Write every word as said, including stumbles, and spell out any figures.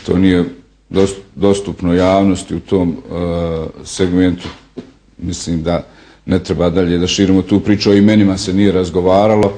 To nije dostupno javnosti u tom segmentu. Mislim da ne treba dalje da širimo tu priču, o imenima se nije razgovaralo.